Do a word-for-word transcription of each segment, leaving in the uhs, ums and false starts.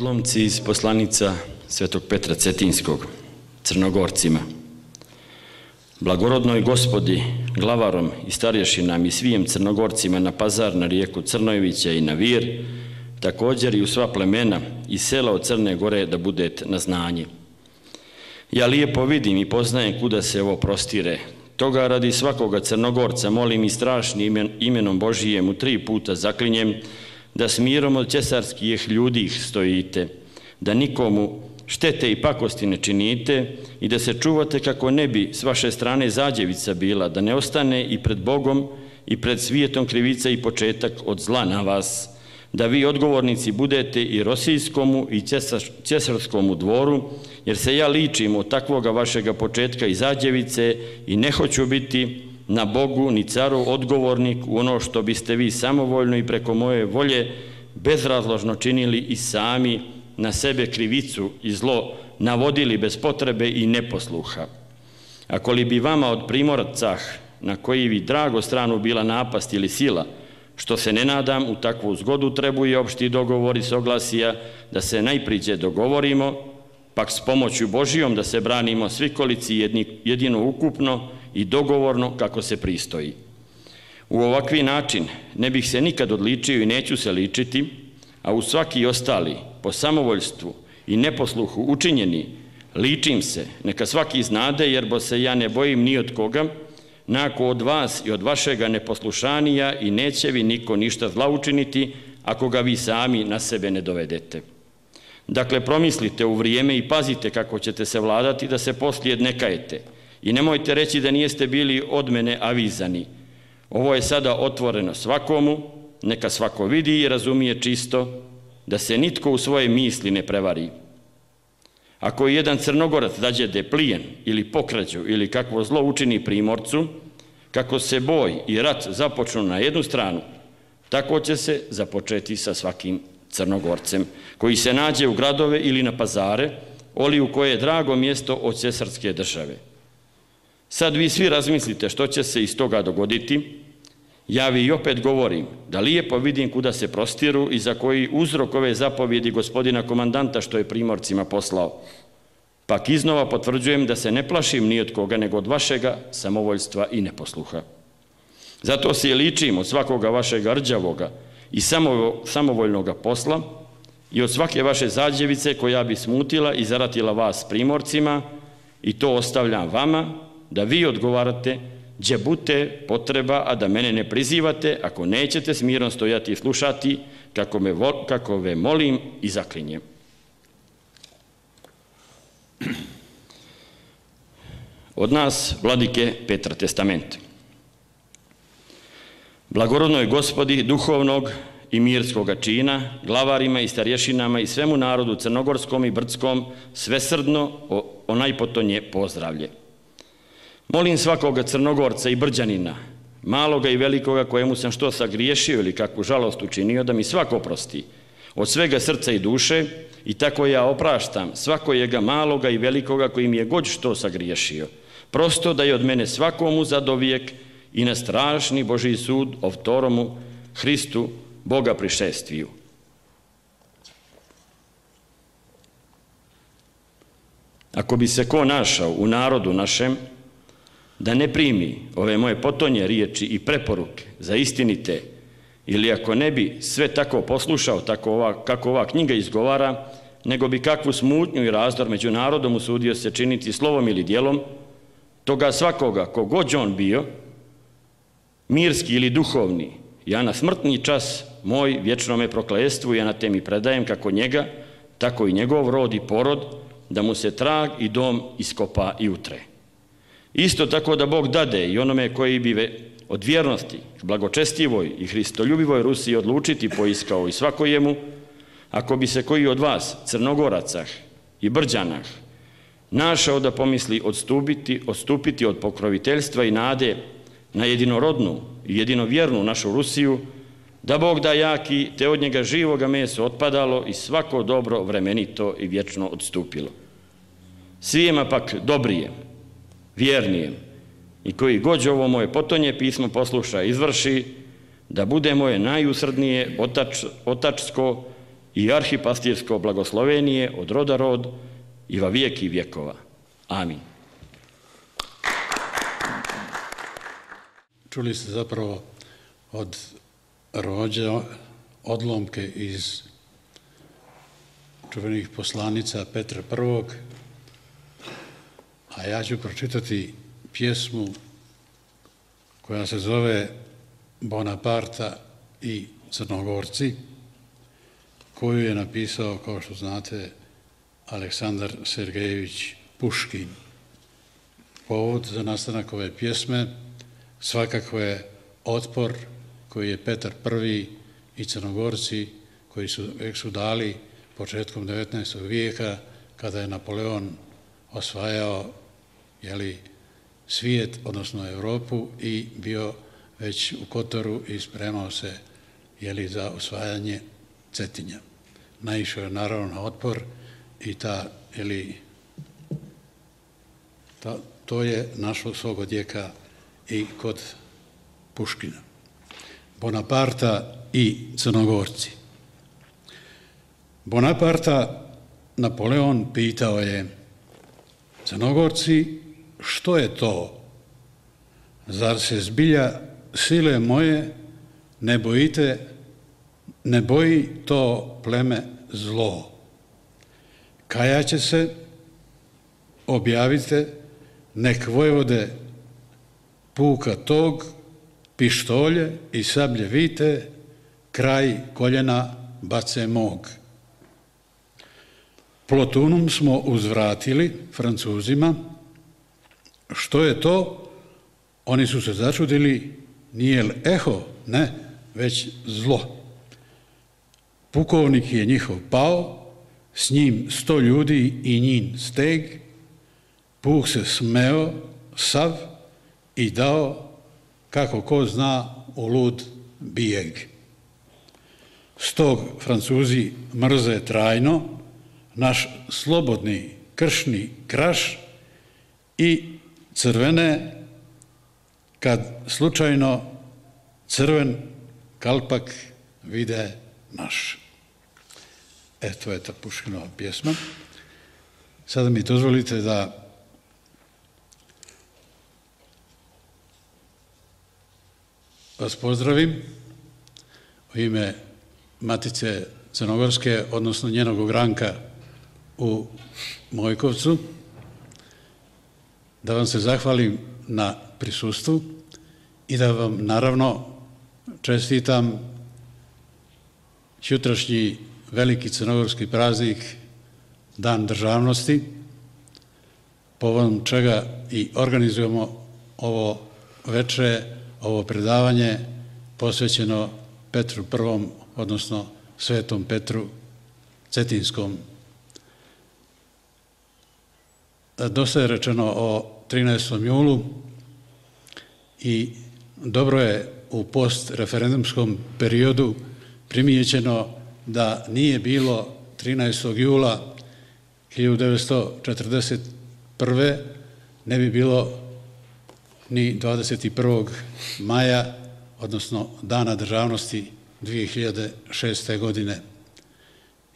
Odlomci iz poslanica Svetog Petra Cetinskog Crnogorcima. Blagorodnoj Gospodi, glavarom i starješinam i svijem Crnogorcima na Pazar, na rijeku Crnojevića i na Vir, također i u sva plemena i sela od Crne Gore da budete na znanje. Ja lijepo vidim i poznajem kuda se ovo prostire. Toga radi svakoga Crnogorca molim i strašnim imenom Božijem u tri puta zaklinjem da s mirom od cesarskih ljudi stojite, da nikomu štete i pakosti ne činite i da se čuvate kako ne bi s vaše strane zađevica bila, da ne ostane i pred Bogom i pred svijetom krivica i početak od zla na vas, da vi odgovornici budete i Rosijskomu i Cesarskom dvoru, jer se ja ličim od takvoga vašega početka i zađevice i ne hoću biti na Bogu ni caru odgovornik u ono što biste vi samovoljno i preko moje volje bezrazložno činili i sami na sebe krivicu i zlo navodili bez potrebe i neposluha. Ako li bi vama od primorcah na koji vi drago stranu bila napast ili sila, što se ne nadam, u takvu zgodu trebuje opšti dogovor i soglasija da se najpriđe dogovorimo, pak s pomoću Božijom da se branimo svi kolici jedino ukupno i dogovorno kako se pristoji. U ovakvi način ne bih se nikad odličio i neću se ličiti, a u svaki ostali po samovoljstvu i neposluhu učinjeni ličim se, neka svaki znade, jer bo se ja ne bojim ni od koga, nako od vas i od vašega neposlušanija i neće vi niko ništa zla učiniti ako ga vi sami na sebe ne dovedete. Dakle, promislite u vrijeme i pazite kako ćete se vladati da se poslije ne kajete i nemojte reći da nijeste bili od mene avizani. Ovo je sada otvoreno svakomu, neka svako vidi i razumije čisto, da se nitko u svoje misli ne prevari. Ako jedan Crnogorac dađede plijen ili pokrađu ili kakvo zlo učini primorcu, kako se boj i rat započnu na jednu stranu, tako će se započeti sa svakim Crnogorcem, koji se nađe u gradove ili na pazare, oli u koje je drago mjesto od cesarske države. Sad vi svi razmislite što će se iz toga dogoditi. Ja vi opet govorim da lijepo vidim kuda se prostiru i za koji uzrok ove zapovjedi gospodina komandanta što je primorcima poslao. Pak iznova potvrđujem da se ne plašim ni od koga nego od vašega samovoljstva i neposluha. Zato se ličim od svakoga vašega rđavoga i samovoljnoga posla i od svake vaše zađevice koja bi smutila i zaratila vas primorcima, i to ostavljam vama da vi odgovarate gdje bute potreba, a da mene ne prizivate ako nećete s mirom stojati i slušati kako, me, kako ve molim i zaklinjem. Od nas, vladike Petra testament. Blagorodnoj Gospodi duhovnog i mirskoga čina, glavarima i starješinama i svemu narodu crnogorskom i brdskom svesrdno onaj potonje pozdravlje. Molim svakoga Crnogorca i Brđanina maloga i velikoga kojemu sam što sagriješio ili kakvu žalost učinio, da mi svako oprosti, od svega srca i duše, i tako ja opraštam svakojega maloga i velikoga koji mi je god što sagriješio, prosto da je od mene svakomu zadovijek i na strašni Božji sud o vtoromu Hristu Boga prišestviju. Ako bi se ko našao u narodu našem da ne primi ove moje potonje riječi i preporuke za istinite, ili ako ne bi sve tako poslušao tako ova, kako ova knjiga izgovara, nego bi kakvu smutnju i razdor među narodom usudio se činiti slovom ili djelom, toga svakoga, kogod on bio, mirski ili duhovni, ja na smrtni čas moj vječnome prokletstvu i anatemi predajem kako njega, tako i njegov rod i porod, da mu se trag i dom iskopa i utre. Isto tako da Bog dade i onome koji bi od vjernosti, blagočestivoj i hristoljubivoj Rusiji odlučiti poiskao i svakojemu, ako bi se koji od vas, Crnogoracah i Brđanah, našao da pomisli odstupiti, odstupiti od pokroviteljstva i nade na jedinorodnu i jedinovjernu našu Rusiju, da Bog da jaki, te od njega živoga meso otpadalo i svako dobro vremenito i vječno odstupilo. Svijema pak dobrijem, vjernijem, i koji god ovo moje potonje pismo posluša i izvrši, da bude moje najusrdnije otač, otačsko i arhipastirsko blagoslovenije od roda rod i va vijeki vjekova. Amin. Čuli ste zapravo od Rođa odlomke iz čuvenih poslanica Petra Prvog, a ja ću pročitati pjesmu koja se zove Bonaparta i Crnogorci, koju je napisao, kao što znate, Aleksandar Sergejević Puškin. Povod za nastanak ove pjesme svakako je otpor koji je Petar Prvi i Crnogorci, koji su, su dali početkom devetnaestog vijeka, kada je Napoleon osvajao jeli, svijet, odnosno Europu, i bio već u Kotoru i spremao se jeli, za osvajanje Cetinja. Naišao je naravno na otpor i ta, jeli, ta, to je našlo svog odjeka i kod Puškina. Bonaparta i Crnogorci. Bonaparta Napoleon pitao je: Crnogorci, što je to? Zar se zbilja sile moje ne bojite, ne boji to pleme zlo? Kajaće se, objavite, nek vojvode puka tog, pištolje i sablje vite, kraj koljena bace mog. Plotunum smo uzvratili Francuzima. Što je to? Oni su se začudili, nije li eho? Ne, već zlo. Pukovnik je njihov pao, s njim sto ljudi i njin steg. Puh se smeo sav i dao, kako ko zna, u lud bijeg. Stog Francuzi mrze trajno naš slobodni kršni kraš i crvene, kad slučajno crven kalpak vide naš. E, to je ta Puškinova pjesma. Sada mi dozvolite da vas pozdravim u ime Matice Crnogorske, odnosno njenog ogranka u Mojkovcu, da vam se zahvalim na prisustvu i da vam naravno čestitam sutrašnji veliki crnogorski praznik, Dan državnosti, povodom čega i organizujemo ovo večer, ovo predavanje posvećeno Petru Prvom, odnosno Svetom Petru Cetinskom. Dosta je rečeno o trinaestom julu i dobro je u postreferendumskom periodu primijećeno da nije bilo trinaestog jula hiljadu devetsto četrdeset prve, ne bi bilo ni dvadeset prvog maja, odnosno Dana državnosti dvije hiljade šeste. godine.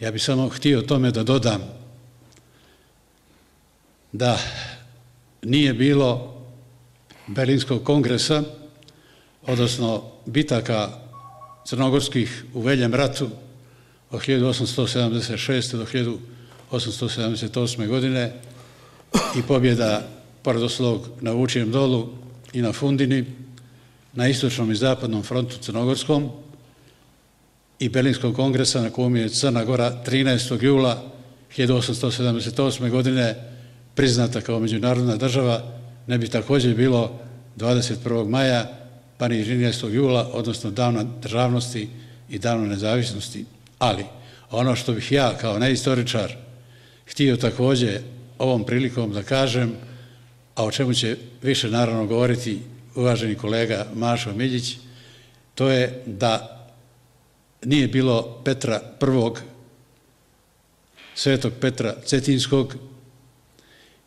Ja bih samo htio tome da dodam da nije bilo Berlinskog kongresa, odnosno bitaka crnogorskih u Veljem ratu od hiljadu osamsto sedamdeset šeste. do hiljadu osamsto sedamdeset osme. godine i pobjeda pored ostalog na Vučijem dolu i na Fundini, na istočnom i zapadnom frontu crnogorskom, i Berlinskog kongresa na kojem je Crna Gora trinaestog jula hiljadu osamsto sedamdeset osme. godine priznata kao međunarodna država, ne bi također bilo dvadeset prvog maja, pa ni trinaestog jula, odnosno Dana državnosti i Dana nezavisnosti. Ali ono što bih ja kao neistoričar htio također ovom prilikom da kažem, a o čemu će više naravno govoriti uvaženi kolega Mašo Miljić, to je da nije bilo Petra prvog, Svetog Petra Cetinskog,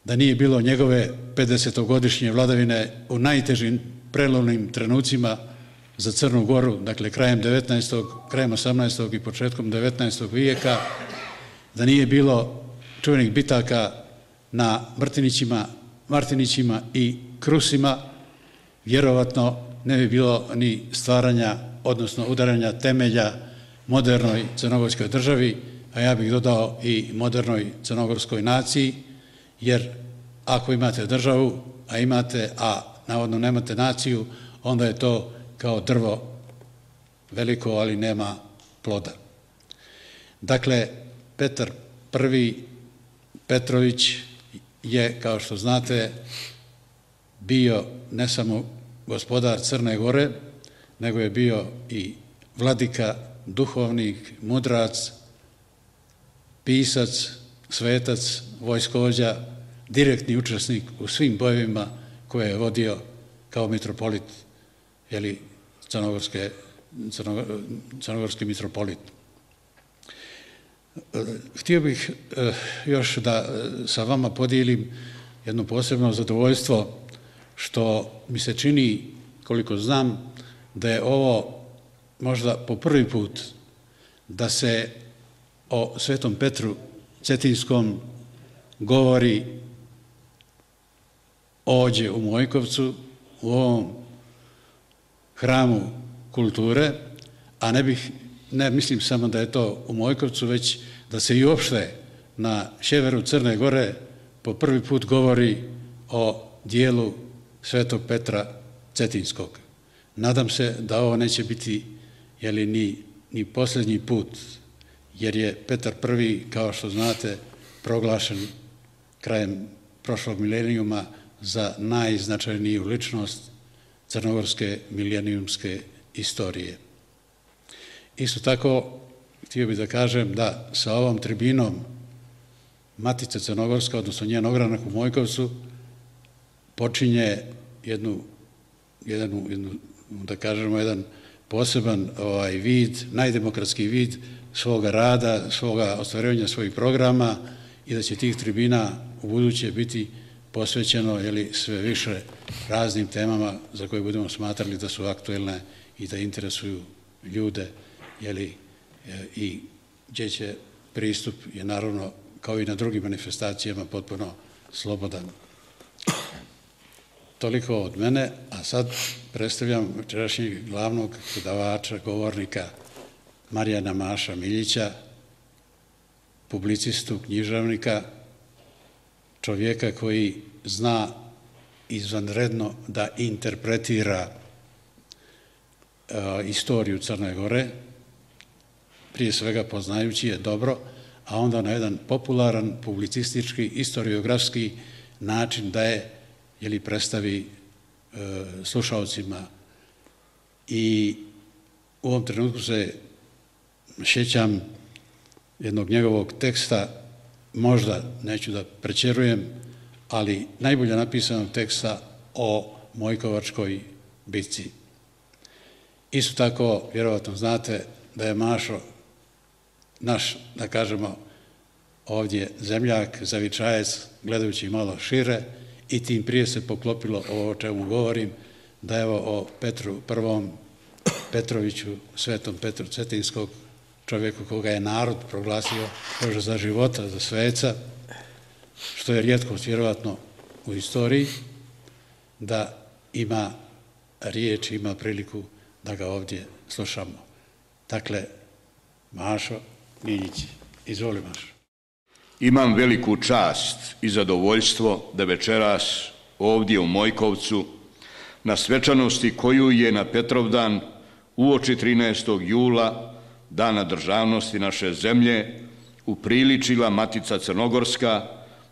da nije bilo njegove pedesetogodišnje vladavine u najtežim prelomnim trenucima za Crnu Goru, dakle krajem devetnaestog, krajem osamnaestog i početkom devetnaestog vijeka, da nije bilo čuvenih bitaka na Martinićima, Martinićima i Krusima, vjerovatno ne bi bilo ni stvaranja, odnosno udaranja temelja modernoj crnogorskoj državi, a ja bih dodao i modernoj crnogorskoj naciji, jer ako imate državu, a imate, a navodno nemate naciju, onda je to kao drvo veliko, ali nema ploda. Dakle, Petar prvi Petrović je, kao što znate, bio ne samo gospodar Crne Gore, nego je bio i vladika, duhovnik, mudrac, pisac, svetac, vojskovođa, direktni učesnik u svim bojevima koje je vodio kao mitropolit, jeli crnogorske, crno, crnogorski mitropolit. Htio bih još da sa vama podijelim jedno posebno zadovoljstvo što mi se čini, koliko znam, da je ovo možda po prvi put da se o Svetom Petru Cetinskom govori ovdje u Mojkovcu, u ovom hramu kulture, a ne bih, ne mislim samo da je to u Mojkovcu, već da se i uopšte na sjeveru Crne Gore po prvi put govori o dijelu Svetog Petra Cetinskog. Nadam se da ovo neće biti, jeli, ni, ni posljednji put, jer je Petar prvi, kao što znate, proglašen krajem prošlog milenijuma za najznačajniju ličnost crnogorske milenijumske istorije. Isto tako, htio bih da kažem da sa ovom tribinom Matica Crnogorska, odnosno njen ogranak u Mojkovcu, počinje jednu, jednu, jednu da kažemo, jedan poseban ovaj, vid, najdemokratski vid svoga rada, svoga ostvarivanja svojih programa i da će tih tribina u buduće biti posvećeno, jeli, sve više raznim temama za koje budemo smatrali da su aktuelne i da interesuju ljude, jeli, i gdje će pristup je naravno kao i na drugim manifestacijama potpuno slobodan. Toliko od mene, a sad predstavljam večerašnjeg glavnog predavača, govornika Marijana Maša Miljića, publicistu, književnika, čovjeka koji zna izvanredno da interpretira uh, istoriju Crne Gore, prije svega poznajući je dobro, a onda na jedan popularan, publicistički, historiografski način da je, jeli, predstavi uh, slušalcima. I u ovom trenutku se sjećam jednog njegovog teksta, možda neću da prečerujem, ali najbolje napisanog teksta o Mojkovačkoj bitci. Isto tako, vjerovatno znate da je Mašo naš, da kažemo, ovdje zemljak, zavičajac, gledajući malo šire, i tim prije se poklopilo ovo o čemu govorim, da evo o Petru Prvom, Petroviću, Svetom Petru Cetinskog, čovjeku koga je narod proglasio Bože za života, za sveca, što je rijetkost vjerovatno u istoriji, da ima riječ, ima priliku da ga ovdje slušamo. Dakle, Mašo Miljić, izvoli Mašo. Imam veliku čast i zadovoljstvo da večeras ovdje u Mojkovcu na svečanosti koju je na Petrovdan uoči trinaestog jula, Dana državnosti naše zemlje, upriličila Matica Crnogorska,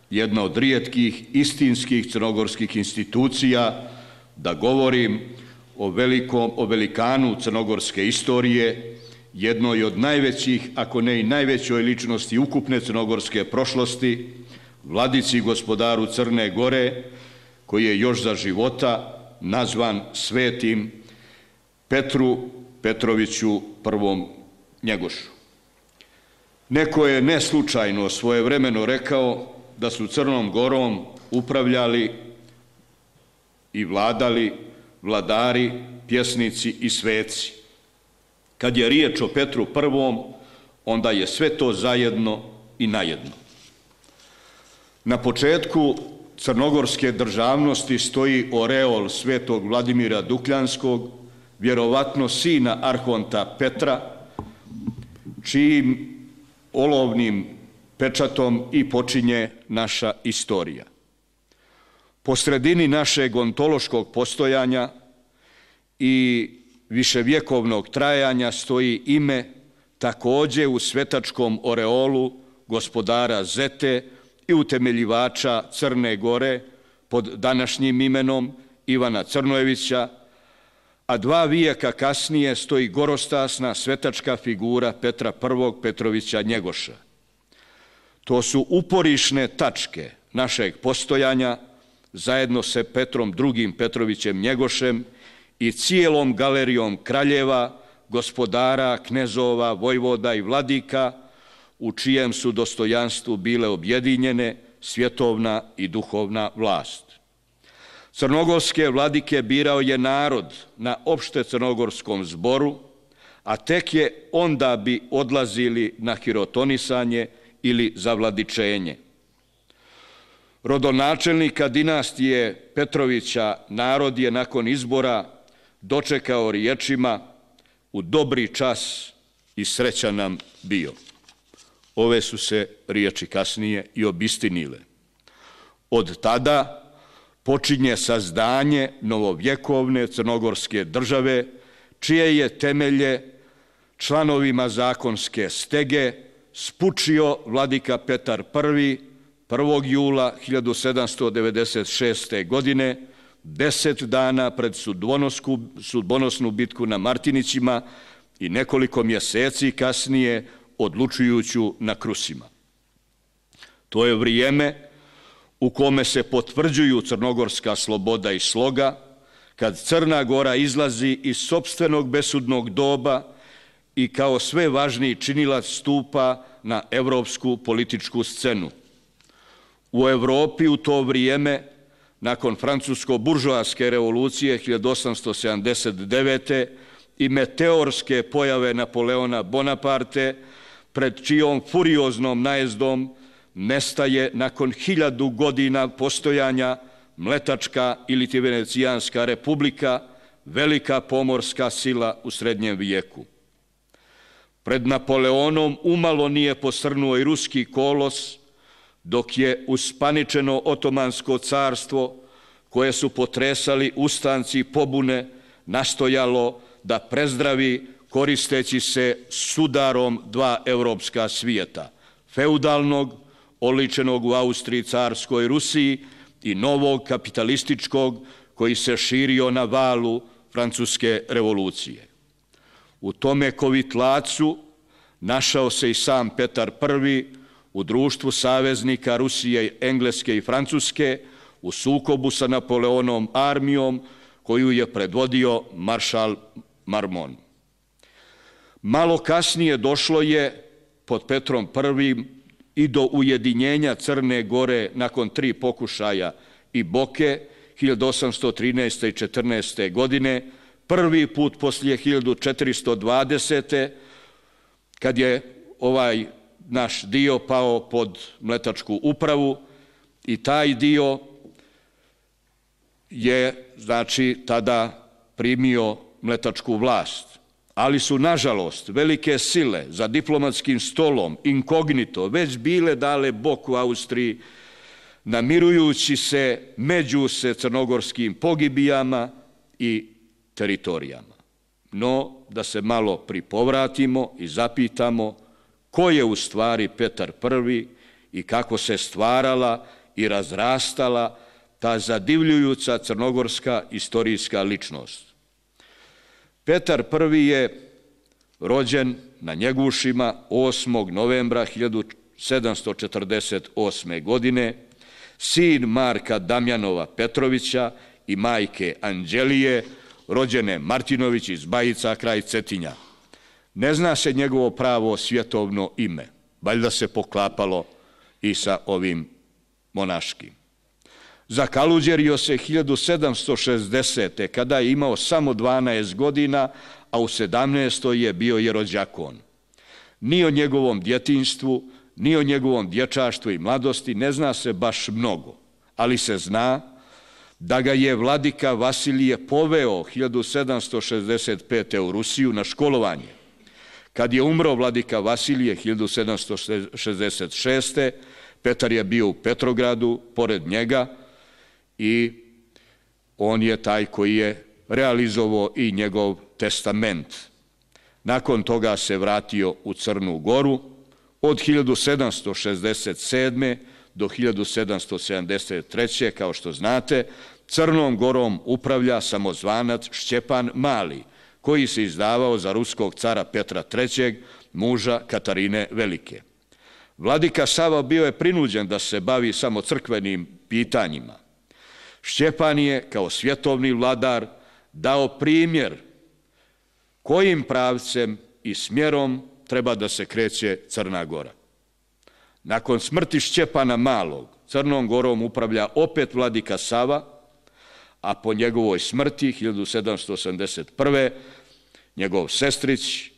jedna od rijetkih istinskih crnogorskih institucija, da govorim o, velikom, o velikanu crnogorske istorije, jednoj od najvećih, ako ne i najvećoj ličnosti ukupne crnogorske prošlosti, vladici gospodaru Crne Gore, koji je još za života nazvan Svetim Petru Petroviću Prvom Njegošu. Neko je neslučajno svojevremeno rekao da su Crnom Gorom upravljali i vladali vladari, pjesnici i sveci. Kad je riječ o Petru Prvom, onda je sve to zajedno i najedno. Na početku crnogorske državnosti stoji oreol svetog Vladimira Dukljanskog, vjerovatno sina arhonta Petra, čijim olovnim pečatom i počinje naša istorija. Po sredini našeg ontološkog postojanja i viševjekovnog trajanja stoji ime također u svetačkom oreolu gospodara Zete i utemeljivača Crne Gore pod današnjim imenom Ivana Crnojevića, a dva vijeka kasnije stoji gorostasna svetačka figura Petra Prvog Petrovića Njegoša. To su uporišne tačke našeg postojanja zajedno sa Petrom Drugim Petrovićem Njegošem i cijelom galerijom kraljeva, gospodara, knezova, vojvoda i vladika, u čijem su dostojanstvu bile objedinjene svjetovna i duhovna vlast. Crnogorske vladike birao je narod na opšte crnogorskom zboru, a tek je onda bi odlazili na hirotonisanje ili zavladičenje. Rodonačelnika dinastije Petrovića narod je nakon izbora dočekao riječima: u dobri čas i srećan nam bio. Ove su se riječi kasnije i obistinile. Od tada počinje sazdanje novovjekovne crnogorske države, čije je temelje članovima zakonske stege spučio vladika Petar Prvi prvog jula hiljadu sedamsto devedeset šeste. godine, deset dana pred sudbonosnu bitku na Martinićima i nekoliko mjeseci kasnije odlučujuću na Krusima. To je vrijeme u kome se potvrđuju crnogorska sloboda i sloga, kad Crna Gora izlazi iz sopstvenog besudnog doba i kao sve važniji činilac stupa na evropsku političku scenu. U Evropi u to vrijeme, nakon francusko-buržoaske revolucije hiljadu osamsto sedamdeset devete. i meteorske pojave Napoleona Bonaparte, pred čijom furioznom najezdom nestaje nakon hiljadu godina postojanja Mletačka ili ti Venecijanska republika, velika pomorska sila u srednjem vijeku. Pred Napoleonom umalo nije posrnuo i ruski kolos, dok je uspaničeno Otomansko carstvo, koje su potresali ustanci pobune, nastojalo da prezdravi koristeći se sudarom dva evropska svijeta, feudalnog, oličenog u Austriji carskoj Rusiji, i novog kapitalističkog koji se širio na valu Francuske revolucije. U tome kovitlacu našao se i sam Petar Prvi u društvu saveznika Rusije, Engleske i Francuske u sukobu sa Napoleonom armijom koju je predvodio maršal Marmon. Malo kasnije došlo je pod Petrom prvim i do ujedinjenja Crne Gore nakon tri pokušaja i Boke hiljadu osamsto trinaeste i četrnaeste. godine, prvi put poslije hiljadu četiristo dvadesete. kad je ovaj naš dio pao pod mletačku upravu i taj dio je, znači, tada primio mletačku vlast. Ali su, nažalost, velike sile za diplomatskim stolom, inkognito, već bile dale bok u Austriji, namirujući se među se crnogorskim pogibijama i teritorijama. No, da se malo pripovratimo i zapitamo ko je u stvari Petar prvi i kako se stvarala i razrastala ta zadivljujuća crnogorska istorijska ličnost. Petar prvi je rođen na Njegušima osmog novembra hiljadu sedamsto četrdeset osme. godine, sin Marka Damjanova Petrovića i majke Anđelije, rođene Martinović iz Bajica kraj Cetinja. Ne zna se njegovo pravo svjetovno ime, valjda se poklapalo i sa ovim monaškim. Zakaluđerio se hiljadu sedamsto šezdesete. kada je imao samo dvanaest godina, a u sedamnaestoj je bio jerođakon. Ni o njegovom djetinjstvu, ni o njegovom dječaštvu i mladosti ne zna se baš mnogo, ali se zna da ga je vladika Vasilije poveo hiljadu sedamsto šezdeset pete. u Rusiju na školovanje. Kad je umro vladika Vasilije hiljadu sedamsto šezdeset šeste. Petar je bio u Petrogradu, pored njega, i on je taj koji je realizovao i njegov testament. Nakon toga se vratio u Crnu Goru. Od hiljadu sedamsto šezdeset sedme. do hiljadu sedamsto sedamdeset treće. kao što znate, Crnom Gorom upravlja samozvanac Šćepan Mali, koji se izdavao za ruskog cara Petra trećeg, muža Katarine Velike. Vladika Sava bio je prinuđen da se bavi samo crkvenim pitanjima. Šćepan je, kao svjetovni vladar, dao primjer kojim pravcem i smjerom treba da se kreće Crna Gora. Nakon smrti Šćepana Malog, Crnom Gorom upravlja opet vladika Sava, a po njegovoj smrti, hiljadu sedamsto osamdeset prve. njegov sestrić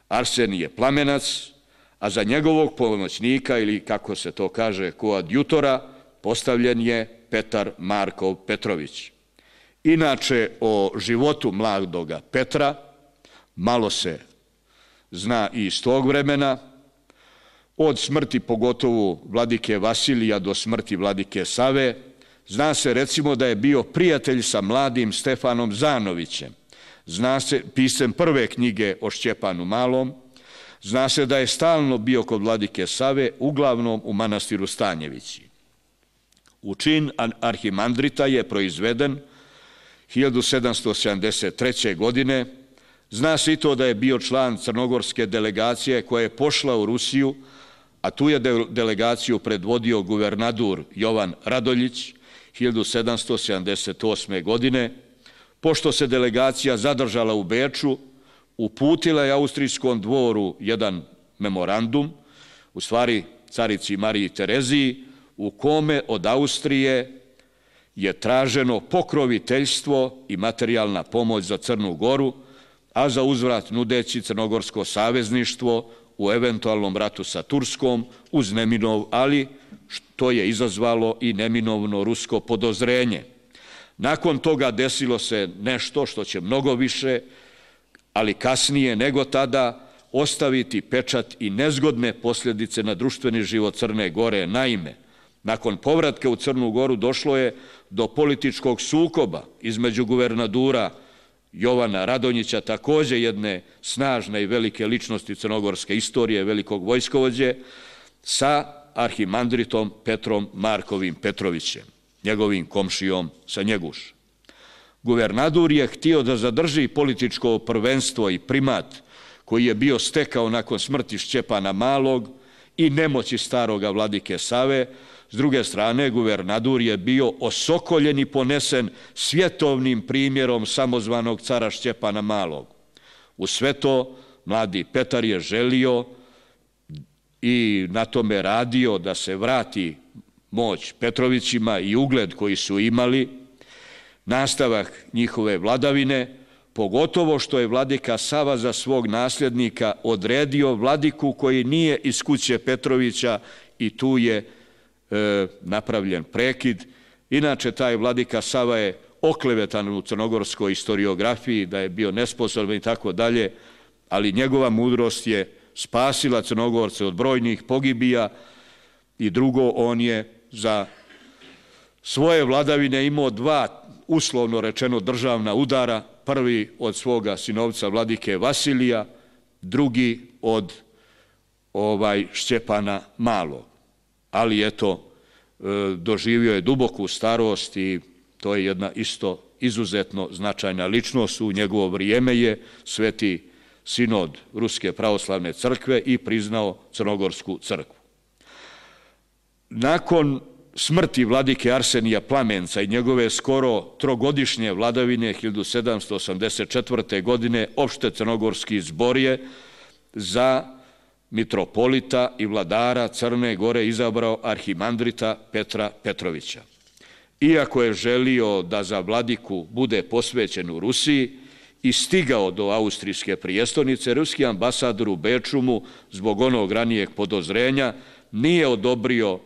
Arsenije Plamenac, a za njegovog pomoćnika, ili kako se to kaže, koadjutora, postavljen je Petar Markov Petrović. Inače, o životu mladoga Petra malo se zna i iz tog vremena. Od smrti pogotovo vladike Vasilija do smrti vladike Save, zna se recimo da je bio prijatelj sa mladim Stefanom Zanovićem. Zna se, pisem prve knjige o Šćepanu Malom. Zna se da je stalno bio kod vladike Save, uglavnom u manastiru Stanjevići. U čin arhimandrita je proizveden hiljadu sedamsto sedamdeset treće. godine. Zna se i to da je bio član crnogorske delegacije koja je pošla u Rusiju, a tu je delegaciju predvodio guvernadur Jovan Radoljić hiljadu sedamsto sedamdeset osme. godine. Pošto se delegacija zadržala u Beču, uputila je austrijskom dvoru jedan memorandum, u stvari carici Mariji Tereziji, u kome od Austrije je traženo pokroviteljstvo i materijalna pomoć za Crnu Goru, a za uzvrat nudeći crnogorsko savezništvo u eventualnom ratu sa Turskom uz neminov, ali što je izazvalo i neminovno rusko podozrenje. Nakon toga desilo se nešto što će mnogo više, ali kasnije nego tada, ostaviti pečat i nezgodne posljedice na društveni život Crne Gore. Naime, nakon povratka u Crnu Goru došlo je do političkog sukoba između guvernadura Jovana Radonjića, također jedne snažne i velike ličnosti crnogorske istorije, velikog vojskovođe, sa arhimandritom Petrom Markovim Petrovićem, njegovim komšijom sa Njeguša. Guvernadur je htio da zadrži političko prvenstvo i primat koji je bio stekao nakon smrti Šćepana Malog i nemoći staroga vladike Save. S druge strane, guvernadur je bio osokoljen i ponesen svjetovnim primjerom samozvanog cara Šćepana Malog. U sve to mladi Petar je želio i na tome radio da se vrati moć Petrovićima i ugled koji su imali, nastavak njihove vladavine, pogotovo što je vladika Sava za svog nasljednika odredio vladiku koji nije iz kuće Petrovića i tu je e, napravljen prekid. Inače, taj vladika Sava je oklevetan u crnogorskoj historiografiji, da je bio nesposoban i tako dalje, ali njegova mudrost je spasila Crnogorce od brojnih pogibija i drugo, on je za svoje vladavine imao dva, uslovno rečeno, državna udara, prvi od svoga sinovca vladike Vasilija, drugi od ovaj Šćepana Malog. Ali eto, doživio je duboku starost i to je jedna isto izuzetno značajna ličnost. U njegovo vrijeme je Sveti Sinod Ruske pravoslavne crkve i priznao Crnogorsku crkvu. Nakon smrti vladike Arsenija Plamenca i njegove skoro trogodišnje vladavine hiljadu sedamsto osamdeset četvrte. godine opšte crnogorski zbor je za mitropolita i vladara Crne Gore izabrao arhimandrita Petra Petrovića. Iako je želio da za vladiku bude posvećen u Rusiji i stigao do austrijske prijestolnice, ruski ambasador u Beču mu zbog onog ranijeg podozrenja nije odobrio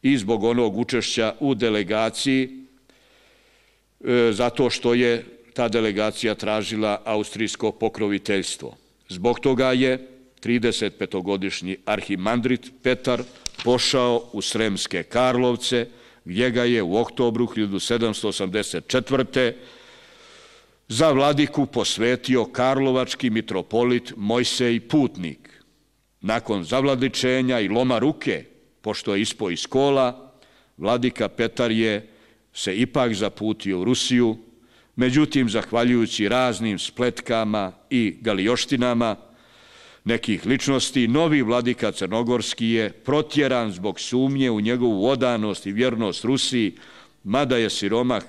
i zbog onog učešća u delegaciji, zato što je ta delegacija tražila austrijsko pokroviteljstvo. Zbog toga je trideset petogodišnji arhimandrit Petar pošao u Sremske Karlovce, gdje ga je u oktobru hiljadu sedamsto osamdeset četvrte. za vladiku posvetio karlovački mitropolit Mojsej Putnik. Nakon zavladičenja i loma ruke, pošto je ispao iz kola, vladika Petar je se ipak zaputio u Rusiju, međutim, zahvaljujući raznim spletkama i galioštinama nekih ličnosti, novi vladika Crnogorski je protjeran zbog sumnje u njegovu odanost i vjernost Rusiji, mada je siromah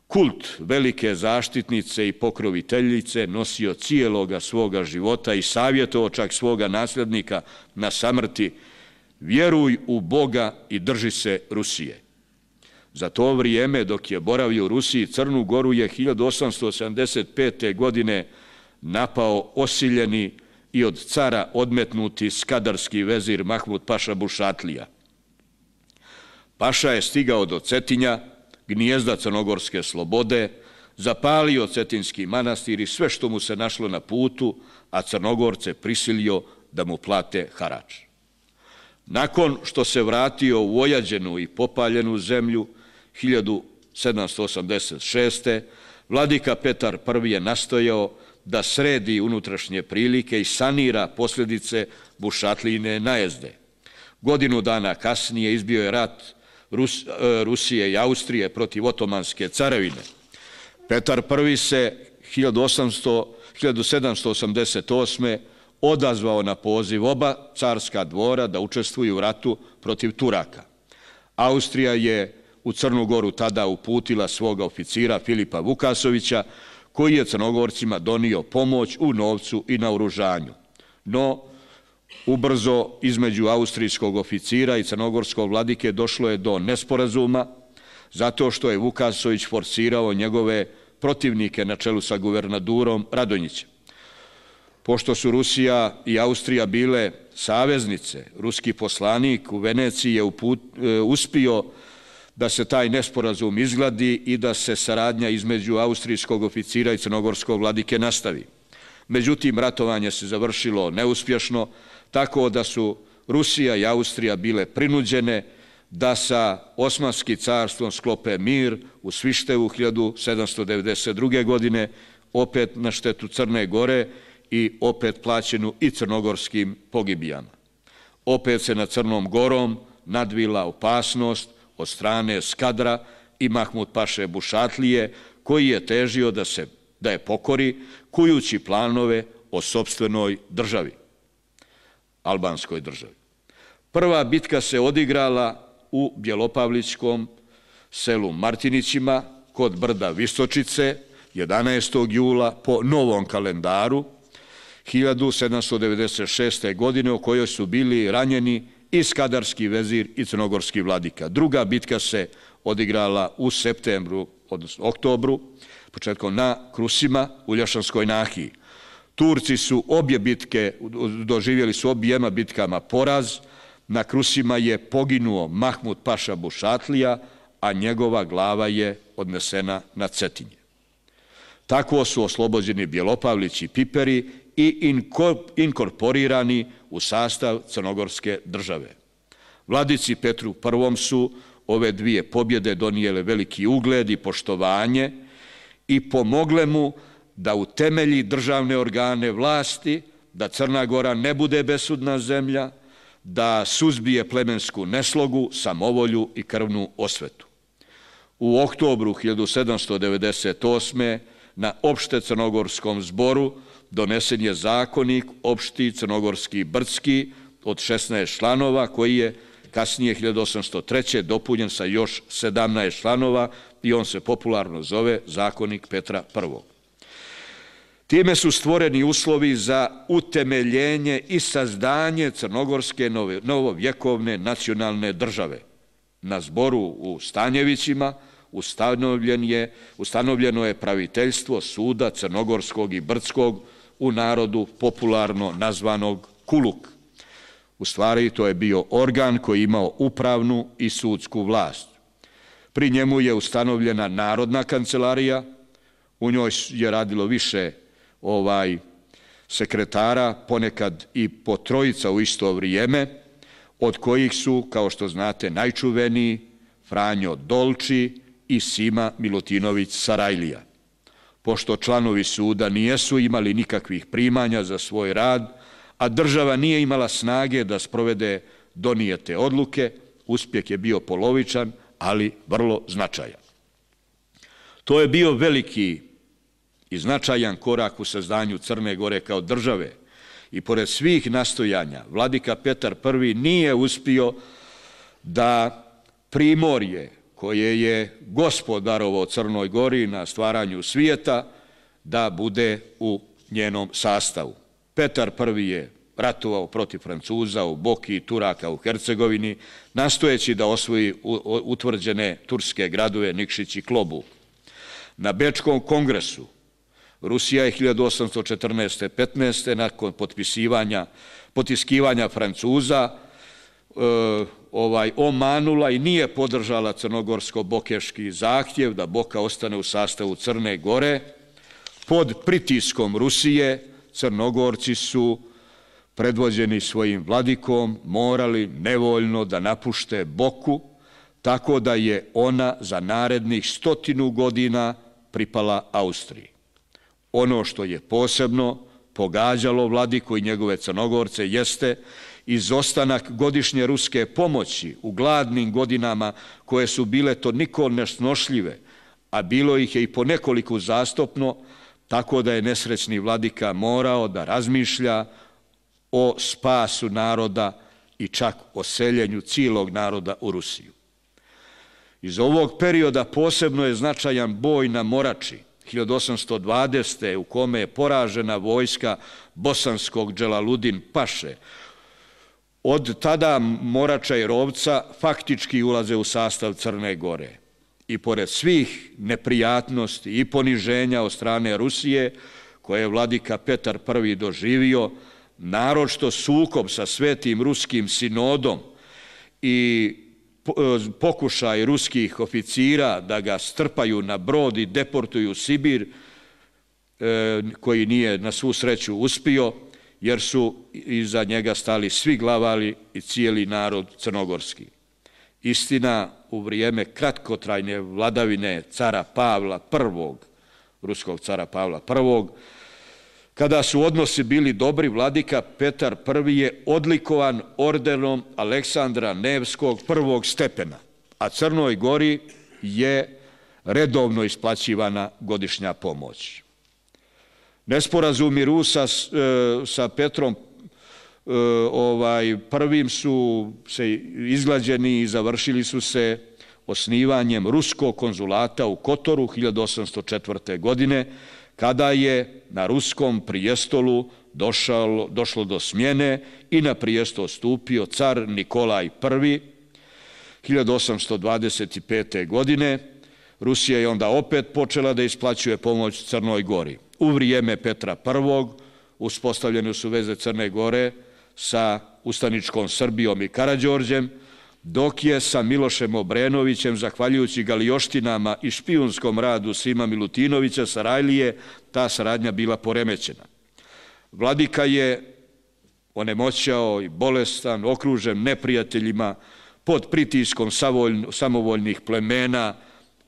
kult velike zaštitnice i pokroviteljice nosio cijeloga svoga života i savjetovao čak svoga nasljednika na samrti: vjeruj u Boga i drži se Rusije. Za to vrijeme, dok je boravio u Rusiji, Crnu Goru je hiljadu osamsto sedamdeset pete. godine napao osiljeni i od cara odmetnuti skadarski vezir Mahmud Paša Bušatlija. Paša je stigao do Cetinja, gnijezda crnogorske slobode, zapalio Cetinski manastir i sve što mu se našlo na putu, a Crnogorce prisilio da mu plate harač. Nakon što se vratio u ojađenu i popaljenu zemlju hiljadu sedamsto osamdeset šeste. vladika Petar Prvi je nastojao da sredi unutrašnje prilike i sanira posljedice Bušatlijine najezde. Godinu dana kasnije izbio je rat Rus, Rusije i Austrije protiv Otomanske carevine. Petar Prvi se hiljadu sedamsto osamdeset osme. odazvao na poziv oba carska dvora da učestvuju u ratu protiv Turaka. Austrija je u Crnu Goru tada uputila svoga oficira Filipa Vukasovića, koji je Crnogorcima donio pomoć u novcu i naoružanju. No, ubrzo između austrijskog oficira i crnogorskog vladike došlo je do nesporazuma, zato što je Vukasović forsirao njegove protivnike na čelu sa guvernadurom Radonjićem. Pošto su Rusija i Austrija bile saveznice, ruski poslanik u Veneciji je uput, e, uspio da se taj nesporazum izgladi i da se saradnja između austrijskog oficira i crnogorskog vladike nastavi. Međutim, ratovanje se završilo neuspješno, tako da su Rusija i Austrija bile prinuđene da sa Osmanskim carstvom sklope mir u Svištevu hiljadu sedamsto devedeset druge. godine, opet na štetu Crne Gore i opet plaćenu i crnogorskim pogibijama. Opet se nad Crnom Gorom nadvila opasnost od strane Skadra i Mahmud Paše Bušatlije, koji je težio da se da je pokori, kujući planove o sopstvenoj državi, albanskoj državi. Prva bitka se odigrala u Bjelopavličkom selu Martinićima kod brda Visočice, jedanaestog jula po novom kalendaru hiljadu sedamsto devedeset šeste. godine, u kojoj su bili ranjeni i skadarski vezir i crnogorski vladika. Druga bitka se odigrala u septembru, odnosno oktobru, početkom na Krusima u Lješanskoj nahiji. Turci su obje bitke, doživjeli su objema bitkama poraz. Na Krusima je poginuo Mahmud Paša Bušatlija, a njegova glava je odnesena na Cetinje. Tako su oslobođeni Bjelopavlić i Piperi i inkorporirani u sastav crnogorske države. Vladici Petru Prvom su ove dvije pobjede donijele veliki ugled i poštovanje i pomogle mu da utemelji državne organe vlasti, da Crna Gora ne bude besudna zemlja, da suzbije plemensku neslogu, samovolju i krvnu osvetu. U oktobru hiljadu sedamsto devedeset osme. na opšte crnogorskom zboru donesen je zakonik opšti crnogorski brdski od šesnaest članova, koji je kasnije hiljadu osamsto treće. dopunjen sa još sedamnaest članova i on se popularno zove zakonik Petra Prvog. Time su stvoreni uslovi za utemeljenje i sazdanje crnogorske novovjekovne nacionalne države. Na zboru u Stanjevićima ustanovljen je, ustanovljeno je praviteljstvo suda crnogorskog i brdskog, u narodu popularno nazvanog Kuluk. U stvari to je bio organ koji je imao upravnu i sudsku vlast. Pri njemu je ustanovljena Narodna kancelarija, u njoj je radilo više ovaj sekretara, ponekad i po trojica u isto vrijeme, od kojih su, kao što znate, najčuveniji Franjo Dolči i Sima Milutinović Sarajlija. Pošto članovi suda nijesu imali nikakvih primanja za svoj rad, a država nije imala snage da sprovede donijete odluke, uspjeh je bio polovičan, ali vrlo značajan. To je bio veliki i značajan korak u sazdanju Crne Gore kao države i pored svih nastojanja vladika Petar Prvi nije uspio da primorje koje je gospodarovao Crnoj Gori na stvaranju svijeta da bude u njenom sastavu. Petar Prvi je ratovao protiv Francuza u Boki i Turaka u Hercegovini, nastojeći da osvoji utvrđene turske gradove Nikšić i Klobu. Na Bečkom kongresu Rusija je hiljadu osamsto četrnaeste. petnaeste. nakon potpisivanja, potiskivanja Francuza e, ovaj, omanula i nije podržala crnogorsko-bokeški zahtjev da Boka ostane u sastavu Crne Gore. Pod pritiskom Rusije Crnogorci su predvođeni svojim vladikom morali nevoljno da napušte Boku, tako da je ona za narednih stotinu godina pripala Austriji. Ono što je posebno pogađalo vladiku i njegove Crnogorce jeste izostanak godišnje ruske pomoći u gladnim godinama koje su bile toliko nesnošljive, a bilo ih je i po nekoliko uzastopno, tako da je nesrećni vladika morao da razmišlja o spasu naroda i čak o seljenju cijelog naroda u Rusiju. Iz ovog perioda posebno je značajan boj na Morači, hiljadu osamsto dvadesete. u kome je poražena vojska bosanskog Dželaludin Paše. Od tada Morača i Rovca faktički ulaze u sastav Crne Gore. I pored svih neprijatnosti i poniženja od strane Rusije, koje je vladika Petar Prvi doživio, naročito sukob sa Svetim Ruskim sinodom i pokušaj ruskih oficira da ga strpaju na brod i deportuju u Sibir, koji nije na svu sreću uspio, jer su iza njega stali svi glavali i cijeli narod crnogorski. Istina, u vrijeme kratkotrajne vladavine cara Pavla Prvog, ruskog cara Pavla Prvog, kada su odnosi bili dobri, vladika Petar Prvi je odlikovan ordenom Aleksandra Nevskog prvog stepena, a Crnoj Gori je redovno isplaćivana godišnja pomoć. Nesporazumi Rusa sa Petrom ovaj, Prvim su se izglađeni i završili su se osnivanjem ruskog konzulata u Kotoru hiljadu osamsto četvrte. godine, kada je na ruskom prijestolu došlo, došlo do smjene i na prijestol stupio car Nikolaj Prvi. hiljadu osamsto dvadeset pete. godine Rusija je onda opet počela da isplaćuje pomoć Crnoj Gori. U vrijeme Petra Prvog uspostavljene su veze Crne Gore sa ustaničkom Srbijom i Karađorđem, dok je sa Milošem Obrenovićem, zahvaljujući galioštinama i špijunskom radu Sima Milutinovića Sarajlije, ta saradnja bila poremećena. Vladika je onemoćao i bolestan, okružen neprijateljima, pod pritiskom samovoljnih plemena,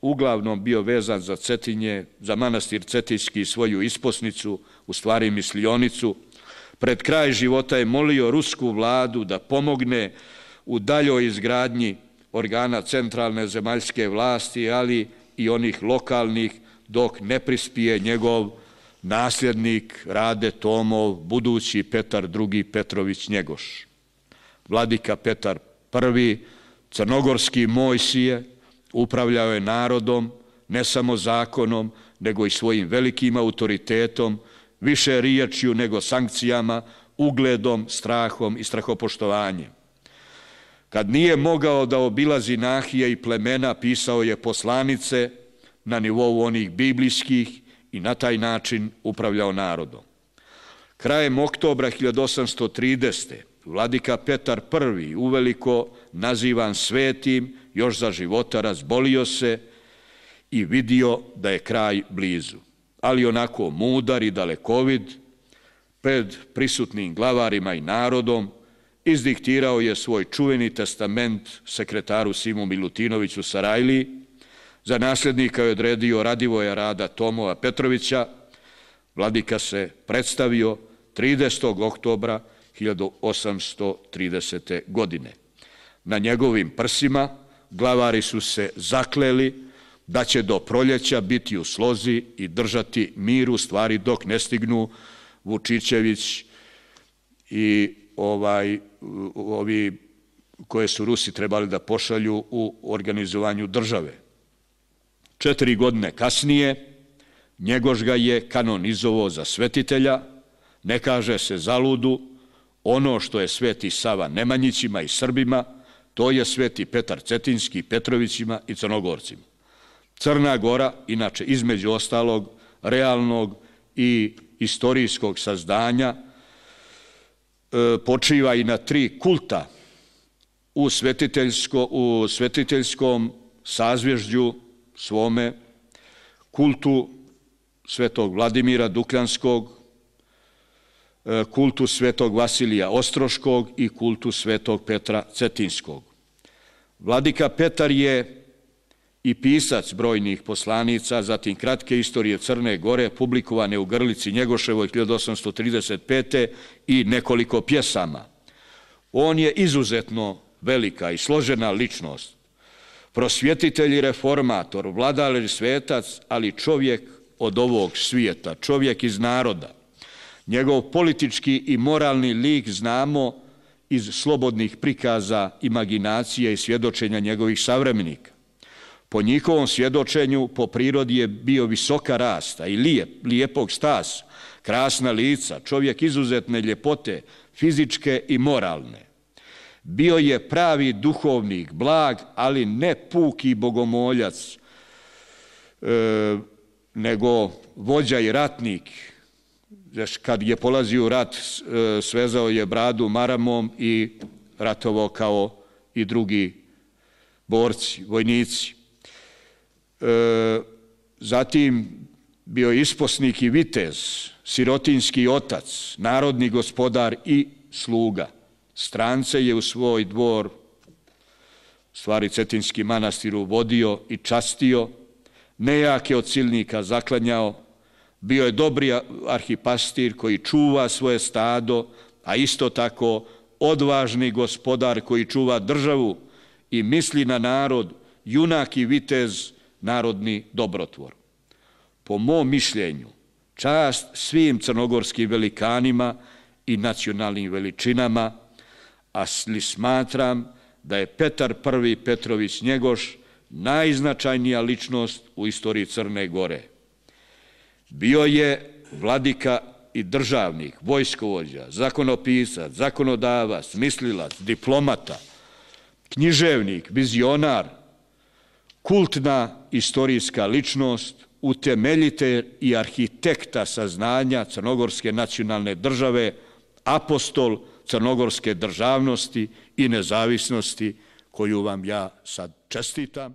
uglavnom bio vezan za Cetinje, za manastir Cetinjski svoju isposnicu, u stvari mislionicu. Pred kraj života je molio rusku vladu da pomogne u daljoj izgradnji organa centralne zemaljske vlasti, ali i onih lokalnih, dok ne prispije njegov nasljednik Rade Tomov, budući Petar Drugi Petrović Njegoš. Vladika Petar Prvi, crnogorski Mojsije, upravljao je narodom, ne samo zakonom, nego i svojim velikim autoritetom, više riječju nego sankcijama, ugledom, strahom i strahopoštovanjem. Kad nije mogao da obilazi nahije i plemena, pisao je poslanice na nivou onih biblijskih i na taj način upravljao narodom. Krajem oktobra hiljadu osamsto tridesete. vladika Petar Prvi, uveliko nazivan svetim, još za života razbolio se i vidio da je kraj blizu. Ali onako mudar i dalekovid, pred prisutnim glavarima i narodom, izdiktirao je svoj čuveni testament sekretaru Simu Milutinoviću Sarajliji, za nasljednika je odredio Radivoja Rada Tomova Petrovića. Vladika se predstavio tridesetog oktobra hiljadu osamsto tridesete. godine. Na njegovim prsima glavari su se zakleli da će do proljeća biti u slozi i držati mir u stvari dok ne stignu Vučićević i ovaj, ovi koje su Rusi trebali da pošalju u organizovanju države. Četiri godine kasnije Njegoš ga je kanonizovao za svetitelja, ne kaže se zaludu, ono što je sveti Sava Nemanjićima i Srbima, to je sveti Petar Cetinjski Petrovićima i Crnogorcima. Crna Gora, inače između ostalog realnog i istorijskog sazdanja, počiva i na tri kulta u, svetiteljsko, u svetiteljskom sazvježđu svome, kultu svetog Vladimira Dukljanskog, kultu svetog Vasilija Ostroškog i kultu svetog Petra Cetinjskog. Vladika Petar je i pisac brojnih poslanica, zatim kratke istorije Crne Gore, publikovane u Grlici Njegoševoj hiljadu osamsto trideset pete. i nekoliko pjesama. On je izuzetno velika i složena ličnost, prosvjetitelj i reformator, vladar i svetac, ali čovjek od ovog svijeta, čovjek iz naroda. Njegov politički i moralni lik znamo iz slobodnih prikaza, imaginacije i svjedočenja njegovih savremenika. Po njihovom svjedočenju, po prirodi je bio visoka rasta i lijep, lijepog stasa, krasna lica, čovjek izuzetne ljepote, fizičke i moralne. Bio je pravi duhovnik, blag, ali ne puki bogomoljac, e, nego vođa i ratnik. Kad je polazio u rat, svezao je bradu maramom i ratovao kao i drugi borci, vojnici. E, zatim bio isposnik i vitez, sirotinjski otac, narodni gospodar i sluga. Strance je u svoj dvor, stvari Cetinjski manastir, uvodio i častio, nejake od silnika zaklanjao. Bio je dobri arhipastir koji čuva svoje stado, a isto tako odvažni gospodar koji čuva državu i misli na narod, junak i vitez, narodni dobrotvor. Po mom mišljenju, čast svim crnogorskim velikanima i nacionalnim veličinama, ali smatram da je Petar Prvi Petrović Njegoš najznačajnija ličnost u istoriji Crne Gore. Bio je vladika i državnik, vojskovođa, zakonopisac, zakonodavac, mislilac, diplomata, književnik, vizionar, kultna istorijska ličnost, utemeljitelj i arhitekta saznanja crnogorske nacionalne države, apostol crnogorske državnosti i nezavisnosti, koju vam ja sad čestitam.